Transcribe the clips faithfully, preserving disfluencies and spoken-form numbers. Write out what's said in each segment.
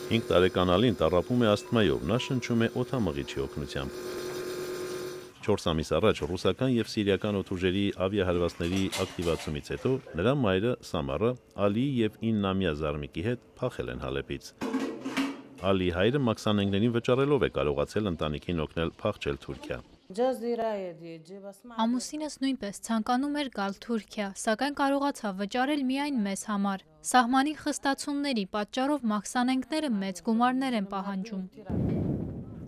հինգ տարեկան Ալին տառապում է ասթմայով, նա շնչում է օդամղիչի օգնությամբ։ չորս ամիս առաջ ռուսական և սիրիական օդուժերի ավիահարվածների ակտիվացումից հետո նրա մայրը Սամարը Ալիի և իննամյա զարմիկի հետ փախել են Հալեպից։ Ալիի հայրը մաքսանենգներին վճարելով է կարողացել ընտանիքին օգնել փախչել Թուրքիա։ Ամուսինս նույնպես ցանկանում էր գալ Թուրքիա, սակայն կարողացավ վճարել միայն մեզ համար։ Սահմանի խստացումների պատճառով մաքսանենգները մեծ գումարներ են պահանջում։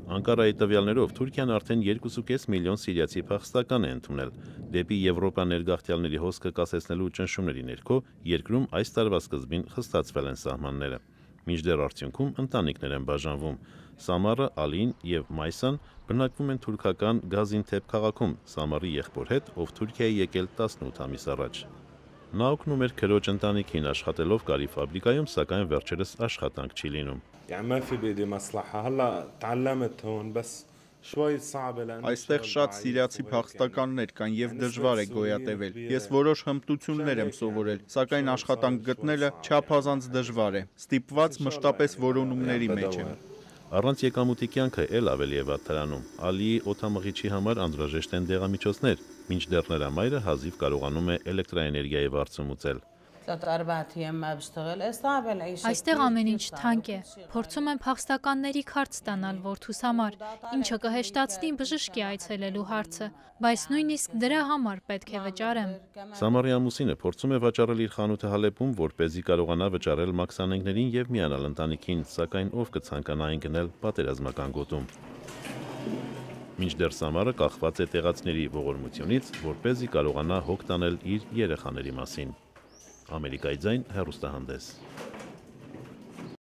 Անկարայի տվյալներով Թուրքիան արդեն երկուսուկես միլիոն սիրիացի փախստական է ընդունել։ Դեպի Եվրոպա ներգաղթյալների հոսքը կասեցնելու ճնշումների ներքո երկրում այս տարվա սկզբին խստացվել են սահմանները։ Մինչդեռ արդյունքում ընտանիքներ են բաժանվում։ Սամարը, Ալին և Մայսան բնակվում են թուրքական Գազինթեփ քաղաքում Սամարի եղբոր հետ, ով Թուրքիա է եկել տասնութ ամիս առաջ։ Նա օգնում էր քրոջ ընտանիքին աշխատելով կարի ֆաբրիկայում, սակայն վերջերս աշխատանք չի լինում։ Այստեղ շատ սիրիացի փախստականներ կան և դժվար է գոյատևել։ Ես որոշ հմտություններ եմ սովորել, սակայն աշխատանք գտնելը չափազանց դժվար է։ Ստիպված մշտապես որոնումների մեջ եմ։ Առանց եկամուտի կյանքը էլ ավելի է վատթարանում։ Ալիի օդամղիչի համար անհրաժեշտ են դեղամիջոցներ, մինչդեռ նրա մայրը հազիվ կարողանում է էլեկտրաէներգիայի վարձում ուծել։ Այստեղ ամեն ինչ թանկ է։ Փորձում եմ փախստականների քարտ ստանալ որդուս համար, ինչը կհեշտացնի բժշկի այցելելու հարցը, բայց նույնիսկ դրա համար պետք է վճարեմ։ Սամարի ամուսինը փորձում է վաճառել իր խանութը Հալեպում, որպեսզի կարողանա վճարել մաքսանենգներին և միանալ ընտանիքին, սակայն ով կցանկանա այն գնել պատերազմական գոտում։ Մինչդեռ Սամարը կախված է տեղացիների ողորմությունից, որպեսզի կարողանա հոգ տանել իր երեխաների մասին։ Ամերիկայի ձայն հեռուստահանդես։